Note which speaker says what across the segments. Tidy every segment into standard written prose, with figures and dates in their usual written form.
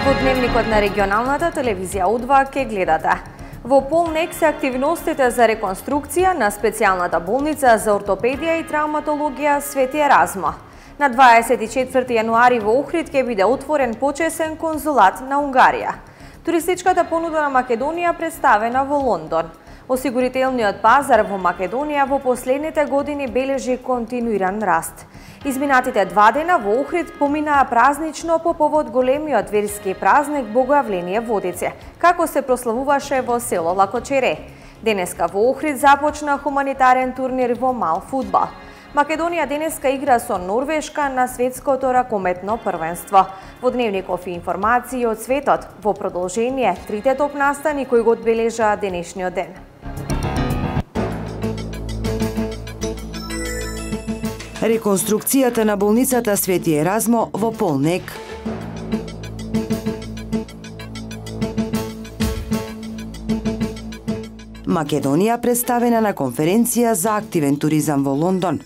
Speaker 1: Во дневникот на регионалната телевизија У2 ке гледате. Во полнек се активностите за реконструкција на специјалната болница за ортопедија и травматологија Свети Еразмо. На 24 јануари во Охрид ќе биде отворен почесен конзулат на Унгарија. Туристичката понуда на Македонија представена во Лондон. Осигурителниот пазар во Македонија во последните години бележи континуиран раст. Изминатите 2 дена во Охрид поминаа празнично по повод големиот верски празник Богојавление Водице, како се прославуваше во село Лакочере. Денеска во Охрид започна хуманитарен турнир во мал фудбал. Македонија денеска игра со Норвешка на светското ракометно првенство. Во дневников и информации од светот, во продолжение, трите топ настани кои го одбележаа денешниот ден.
Speaker 2: Реконструкцијата на болницата Свети Еразмо во полнек. Македонија представена на конференција за активен туризам во Лондон.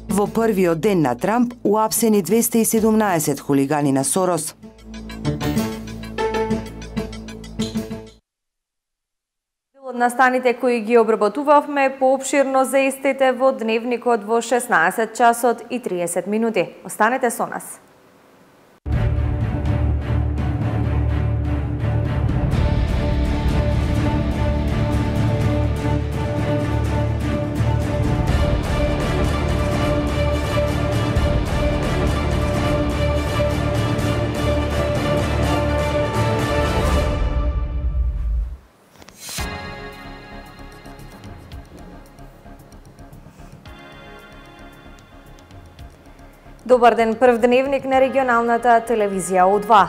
Speaker 2: Во првиот ден на Трамп уапсени 217 хулигани на Сорос.
Speaker 1: Од настаните кои ги обработувавме поопширно за истите во дневникот во 16 часот и 30 минути. Останете со нас. Добар ден, прв дневник на регионалната телевизија У2.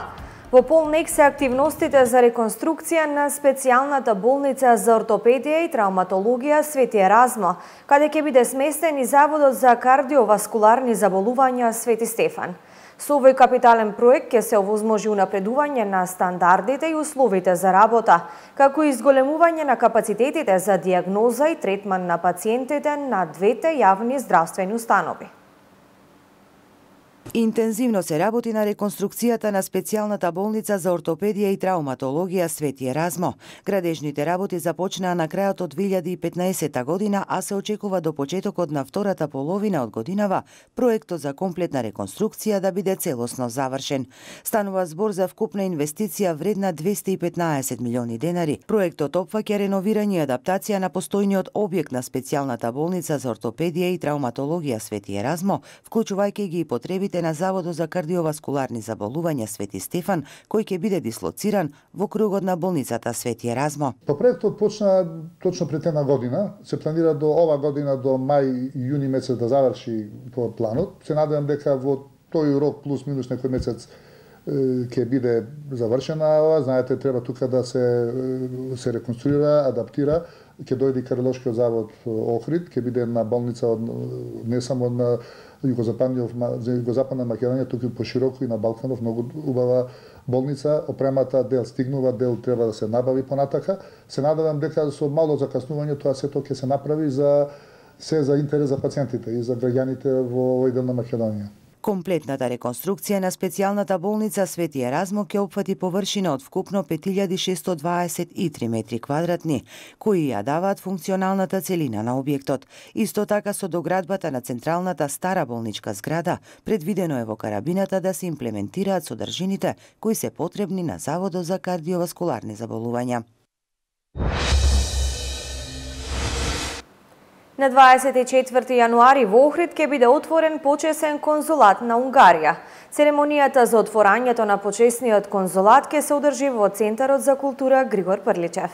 Speaker 1: Во полнек се активностите за реконструкција на специјалната болница за ортопедија и травматологија Свети Еразмо, каде ќе биде сместен и Заводот за кардиоваскуларни заболувања Свети Стефан. Со овој капитален проект ќе се овозможи унапредување на стандардите и условите за работа, како и изголемување на капацитетите за дијагноза и третман на пациентите на двете јавни здравствени установи.
Speaker 2: Интензивно се работи на реконструкцијата на специјалната болница за ортопедија и травматологија Свети Еразмо. Градежните работи започнаа на крајот од 2015 година, а се очекува до почетокот на втората половина од годинава проектот за комплетна реконструкција да биде целосно завршен. Станува збор за вкупна инвестиција вредна 215 милиони денари. Проектот опфаќа реновирање и адаптација на постојниот објект на специјалната болница за ортопедија и травматологија Свети Еразмо, вклучувајќи ги и потребите на Заводот за кардиоваскуларни заболувања Свети Стефан, кој ќе биде дислоциран во кругот на болницата Свети Еразмо.
Speaker 3: Проектот почна точно пред една година, се планира до ова година до мај и јуни месец да заврши по планот. Се надевам дека во тој рок плюс минус некој месец ќе биде завршена ова. Знаете, треба тука да се реконструира, адаптира. Ќе дојде Кардиолошкиот завод Охрид, ќе биде една болница не само на југозападна Македонија, туку и пошироко и на Балканов, многу убава болница. Опремата дел стигнува, дел треба да се набави понатака. Се надевам дека со мало закаснување тоа сето ќе се направи за интерес за пациентите и за граѓаните во овој дел на Македонија.
Speaker 2: Комплетната реконструкција на специјалната болница Свети Еразмо ќе опфати површина од вкупно 5623 метри квадратни, кои ја даваат функционалната целина на објектот. Исто така со доградбата на централната стара болничка зграда, предвидено е во карабината да се имплементираат содржините кои се потребни на Заводот за кардиоваскуларни заболувања.
Speaker 1: На 24 јануари во Охрид ќе биде отворен почесен конзулат на Унгарија. Церемонијата за отворањето на почесниот конзулат ќе се одржи во Центарот за култура Григор Прличев.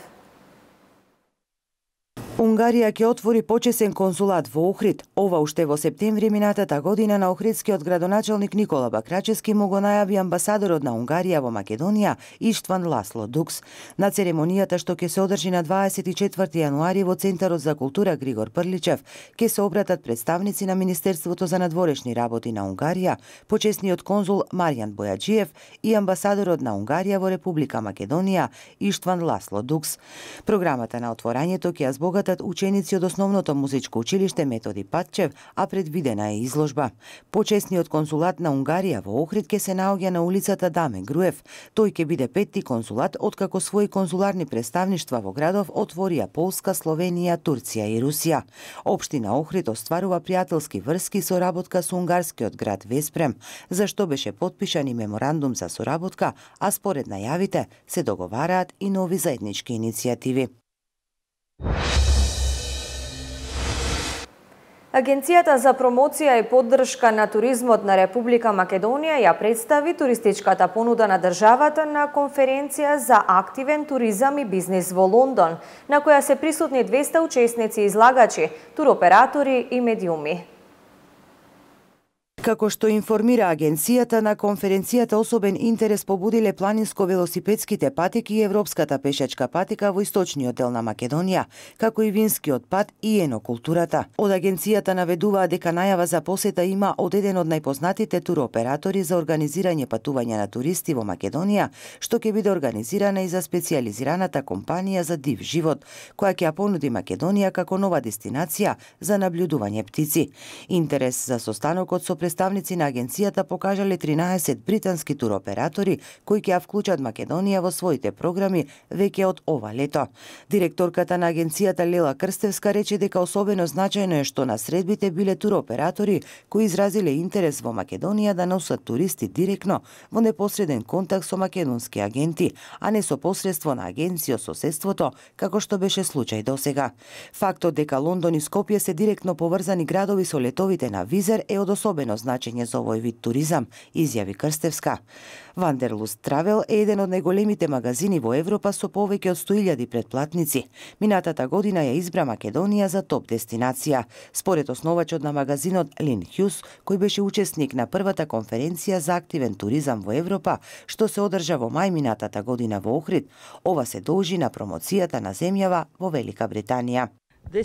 Speaker 2: Унгарија ќе отвори почесен конзулат во Охрид. Ова уште во септември минатата година на охридскиот градоначелник Никола Бакрачевски му го најави амбасадорот на Унгарија во Македонија Иштван Ласло Дукс. На церемонијата што ќе се одржи на 24 јануари во Центарот за култура Григор Прличев ќе се обратат представници на Министерството за надворешни работи на Унгарија, почесниот конзул Маријан Бојаджиев и амбасадорот на Унгарија во Република Македонија Иштван Ласло Дукс. Програмата на отворањето ќе ја збогата викат ученици од основното музичко училиште Методи Патчев, а предвидена е изложба. Почесниот консулат на Унгарија во Охрид ќе се наоѓа на улицата Даме Груев. Тој ќе биде 5ти консулат откако своји консуларни представништва во градов отворија Полска, Словенија, Турција и Русија. Општина Охрид остварува пријателски врски со работка со унгарскиот град Веспрем, за што беше подпишан и меморандум за соработка, а според најавите се договараат и нови заеднички иницијативи.
Speaker 1: Агенцијата за промоција и поддршка на туризмот на Република Македонија ја представи туристичката понуда на државата на конференција за активен туризам и бизнис во Лондон, на која се присутни 200 учесници и излагачи, туроператори и медиуми.
Speaker 2: Како што информира агенцијата, на конференцијата особен интерес побудиле планинско-велосипедските патеки и европската пешачка патека во источниот дел на Македонија, како и винскиот пат и енокултурата. Од агенцијата наведуваа дека најава за посета има од еден од најпознатите туроператори за организирање патување на туристи во Македонија, што ќе биде организирана и за специјализираната компанија за див живот, која ќе ја понуди Македонија како нова дестинација за наблюдување птици. Интерес за состанокот со представници на агенцијата покажале 13 британски туроператори кои ќе ја вклучат Македонија во своите програми веќе од ова лето. Директорката на агенцијата Лела Крстевска рече дека особено значајно е што на средбите биле туроператори кои изразиле интерес во Македонија да носат туристи директно во непосреден контакт со македонски агенти, а не со посредство на агенција од соседството, како што беше случај досега. Фактот дека Лондон и Скопје се директно поврзани градови со летовите на Визер е од особено значење за овој вид туризам, изјави Крстевска. Вандерлуст Травел е еден од најголемите магазини во Европа со повеќе од 100.000 претплатници. Минатата година ја избра Македонија за топ дестинација. Според основачот на магазинот Лин Хјус, кој беше учесник на првата конференција за активен туризам во Европа, што се одржа во мај минатата година во Охрид, ова се должи на промоцијата на земјава во Велика Британија.
Speaker 1: Во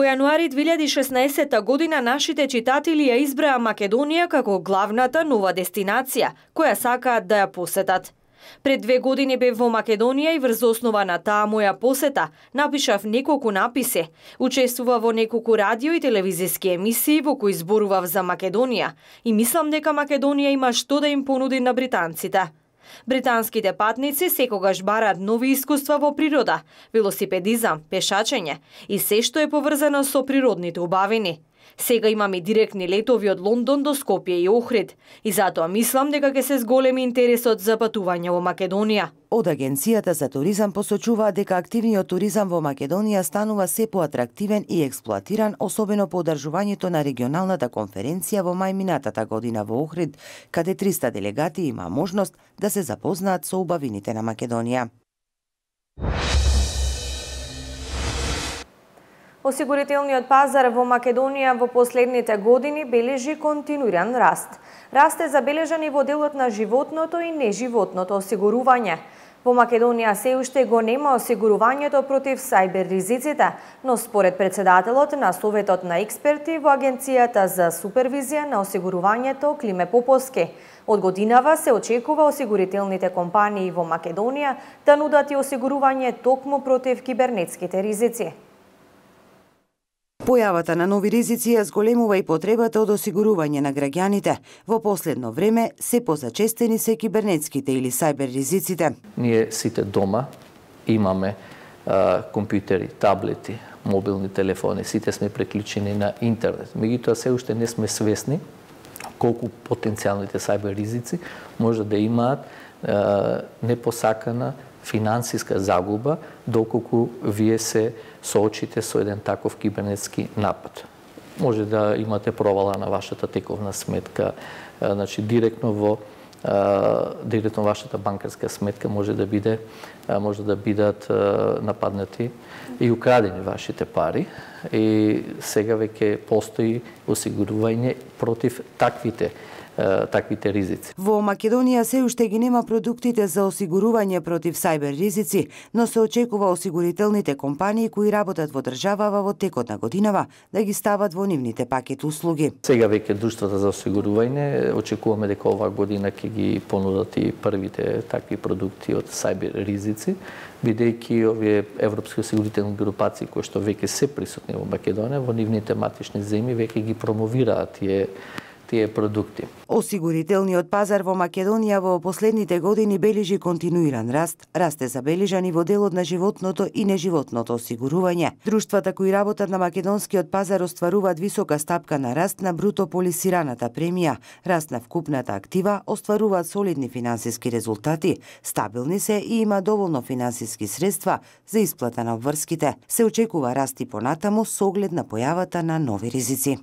Speaker 1: јануари 2016 година нашите читатели ја избраа Македонија како главната нова дестинација, која сакаат да ја посетат. Пред 2 години бев во Македонија и врз основа на таа моја посета напишав неколку написи, учествував во неколку радио и телевизиски емисии во кои зборував за Македонија и мислам дека Македонија има што да им понуди на британците. Британските патници секогаш бараат нови искуства во природа, велосипедизам, пешачење и се што е поврзано со природните убавини. Сега имаме и директни летови од Лондон до Скопје и Охрид и затоа мислам дека ќе се зголеми интересот за патување во Македонија.
Speaker 2: Од агенцијата за туризам посочуваат дека активниот туризам во Македонија станува се поатрактивен и експлоатиран, особено по одржувањето на регионалната конференција во мај минатата година во Охрид, каде 300 делегати има можност да се запознаат со убавините на Македонија.
Speaker 1: Осигурителниот пазар во Македонија во последните години бележи континуиран раст. Раст е забележан и во делот на животното и неживотното осигурување. Во Македонија се уште го нема осигурувањето против сајбер ризиците, но според председателот на Советот на експерти во Агенцијата за супервизија на осигурувањето Климе Поповски, од годинава се очекува осигурителните компании во Македонија да нудат и осигурување токму против кибернетските ризици.
Speaker 2: Појавата на нови ризици ја зголемува и потребата од осигурување на граѓаните. Во последно време се позачестени се кибернетските или сајбер ризиците.
Speaker 4: Ние сите дома имаме компјутери, таблети, мобилни телефони, сите сме преклучени на интернет. Меѓутоа се уште не сме свесни колку потенцијалните сајбер ризици може да имаат непосакана финансиска загуба доколку вие се соочите со еден таков кибернетски напад. Може да имате провала на вашата тековна сметка, значи директно вашата банкарска сметка може да бидат нападнати и украдени вашите пари. И сега веќе постои осигурување против таквите таквите ризици.
Speaker 2: Во Македонија се уште ги нема продуктите за осигурување против сајбер ризици, но се очекува осигурителните компании кои работат во државава во текот на годинава да ги стават во нивните пакет услуги.
Speaker 4: Сега веќе друштвата за осигурување очекуваме дека оваа година ќе ги понудат и првите такви продукти од сајбер ризици, бидејќи овие европски осигурителни групации кои што веќе се присутни во Македонија, во нивните матични земји веќе ги промовираат тие продукти.
Speaker 2: Осигурителниот пазар во Македонија во последните години бележи континуиран раст. Раст е забележан и во делот на животното и неживотното осигурување. Друштвата кои работат на македонскиот пазар остваруваат висока стапка на раст на бруто полисираната премија, раст на вкупната актива, остваруваат солидни финансиски резултати, стабилни се и има доволно финансиски средства за исплата на обврските. Се очекува раст и понатаму со оглед на појавата на нови ризици.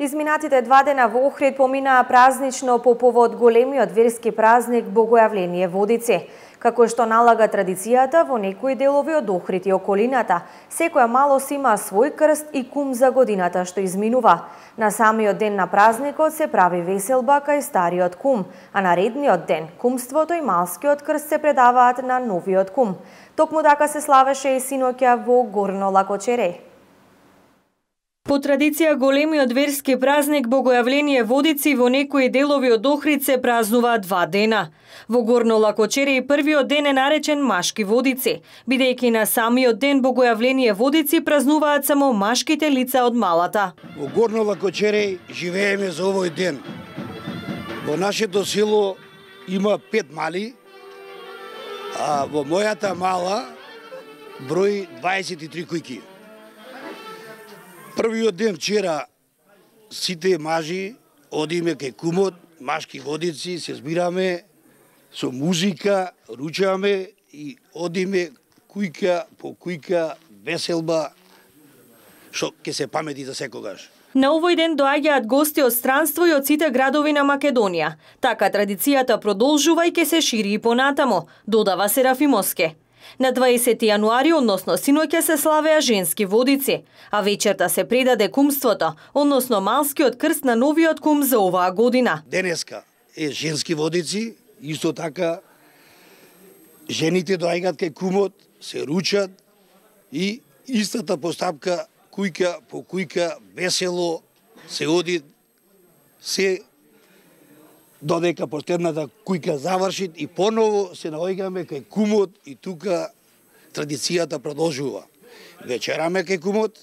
Speaker 1: Изминатите 2 дена во Охрид поминаа празнично по повод големиот верски празник Богојавление Водици. Како што налага традицијата во некои делови од Охрид и околината, секоја малост има свој крст и кум за годината што изминува. На самиот ден на празникот се прави веселба кај стариот кум, а на редниот ден кумството и малскиот крст се предаваат на новиот кум. Токму така се славеше и синоќа во Горно Лакочере. По традиција, големиот верски празник Богојавление Водици во некои делови од Охрид се празнува 2 дена. Во Горно Лакочере и првиот ден е наречен Машки Водици, бидејќи на самиот ден Богојавление Водици празнуваат само машките лица од малата.
Speaker 5: Во Горно Лакочере живееме за овој ден. Во нашето село има 5 мали, а во мојата мала брои 23 кујки. Првиот ден вчера сите мажи одиме кај кумот, Машки Водици, се збираме со музика, ручаме и одиме кујка по кујка веселба што ќе се памети за секогаш.
Speaker 1: На овој ден доаѓаат гости од странство и од сите градови на Македонија. Така традицијата продолжува и ќе се шири и понатамо, додава Серафимовски. На 20 јануари, односно синоќа, се славеа женски водици, а вечерта се предаде кумството, односно малскиот крст на новиот кум за оваа година.
Speaker 5: Денеска е женски водици, исто така жените доаѓаат кај кумот, се ручат и истата постапка кујка по кујка весело се оди, се додека последната кујка заврши и поново се наоѓаме кај кумот и тука традицијата продолжува. Вечераме кај кумот,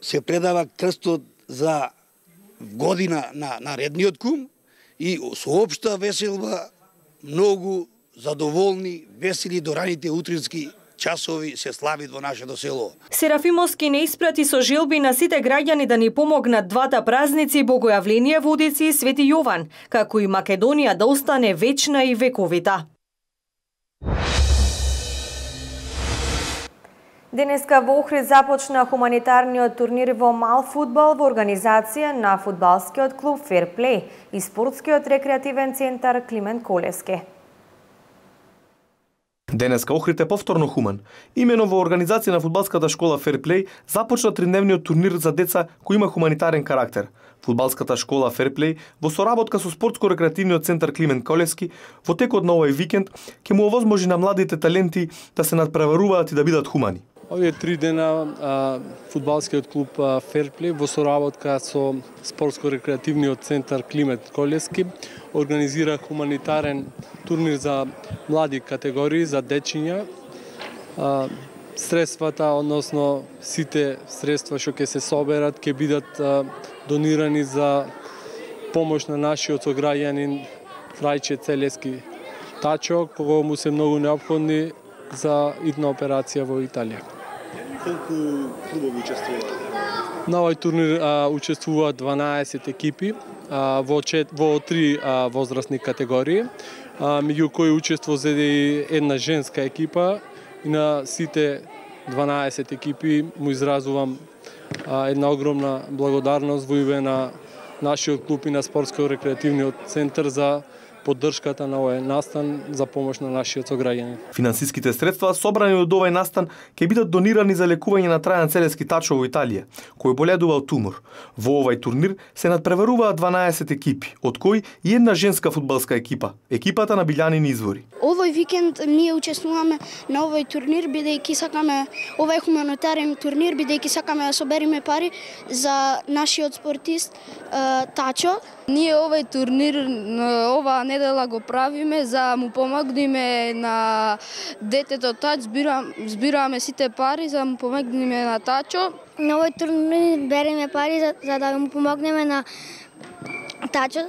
Speaker 5: се предава крстот за година на редниот кум и со општа веселба, многу задоволни, весели до раните утрински часови се славит во нашето село.
Speaker 1: Серафимовски не испрати со желби на сите граѓани да ни помогнат двата празници Богојавление Водици и Свети Јован, како и Македонија да остане вечна и вековита. Денеска во Охрид започна хуманитарниот турнир во мал фудбал во организација на фудбалскиот клуб Ферплей и спортскиот рекреативен центар Климент Колевски.
Speaker 6: Денеска Охрид е повторно хуман. Имено во организација на фудбалската школа Ферплей започна тридневниот турнир за деца кој има хуманитарен карактер. Фудбалската школа Ферплей во соработка со спортско-рекреативниот центар Климент Колевски во текот на овој викенд ќе му овозможи на младите таленти да се надпреваруваат и да бидат хумани.
Speaker 7: Овие 3 дена фудбалскиот клуб Ферплей во соработка со спортско-рекреативниот центар Климент Колевски организира хуманитарен турнир за млади категории, за дечиња. Средствата, односно сите средства што ќе се соберат, ќе бидат донирани за помош на нашиот сограѓанин Крајче Целески Тачо, кога му се многу неопходни за идна операција во Италија.
Speaker 8: Колку клубови учествуваат?
Speaker 7: На овој турнир учествуваат 12 екипи во 3 возрастни категории, меѓу кои учество зеде и една женска екипа и на сите 12 екипи му изразувам една огромна благодарност во име на нашиот клуб и на спортско-рекреативниот центар за поддршката на овој настан за помош на нашиот сограѓани.
Speaker 6: Финансиските средства собрани од овој настан ќе бидат донирани за лекување на Трајан Целески Тачо во Италија, кој боледува од тумор. Во овај турнир се надпреваруваат 12 екипи, од кои и една женска фудбалска екипа, екипата на Билјанини Извори.
Speaker 9: Овој викенд ние учествуваме на овој турнир бидејќи сакаме овој хуманитарен турнир бидејќи сакаме да собериме пари за нашиот спортист Тачо.
Speaker 10: Ние овој турнир оваа недела го правиме за му помогнеме на детето Тач, збираме сите пари за му помогнеме на Тачо.
Speaker 9: На овој турнир береме пари за да му помогнеме на Тачо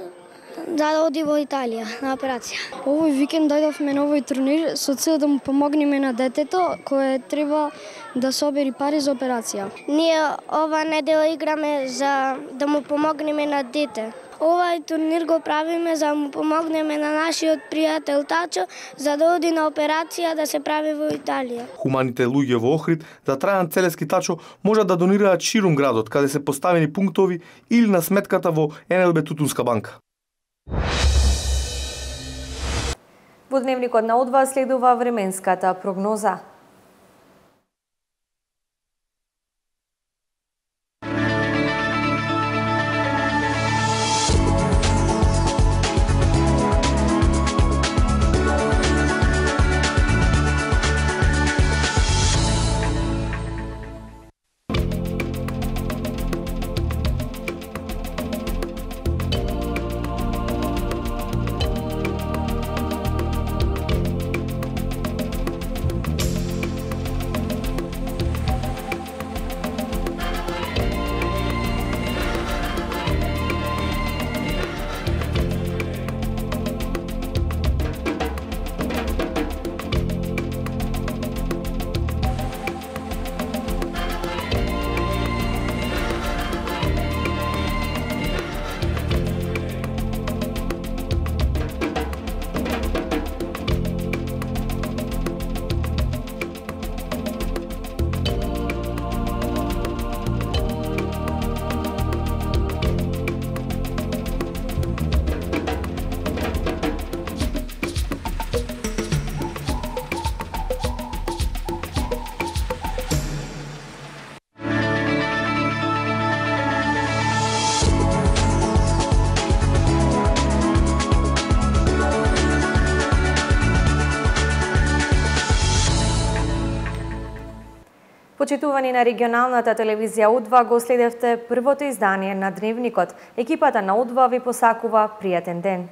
Speaker 9: за да оди во Италија на операција. Овој викенд дојдовме на овој турнир со цел да му помогнеме на детето кое треба да собери пари за операција. Ние ова недела играме за да му помогнеме на дете. Овај турнир го правиме за да му помогнеме на нашиот пријател Тачо за да оди на операција да се прави во Италија.
Speaker 6: Хуманите луѓе во Охрид за Трајан Целески Тачо можат да донираат ширум градот каде се поставени пунктови или на сметката во НЛБ Тутунска банка.
Speaker 1: Во дневникот на Одва следува временската прогноза. Почитувани на регионалната телевизија Удва, го следевте првото издание на Дневникот. Екипата на Удва ви посакува пријатен ден.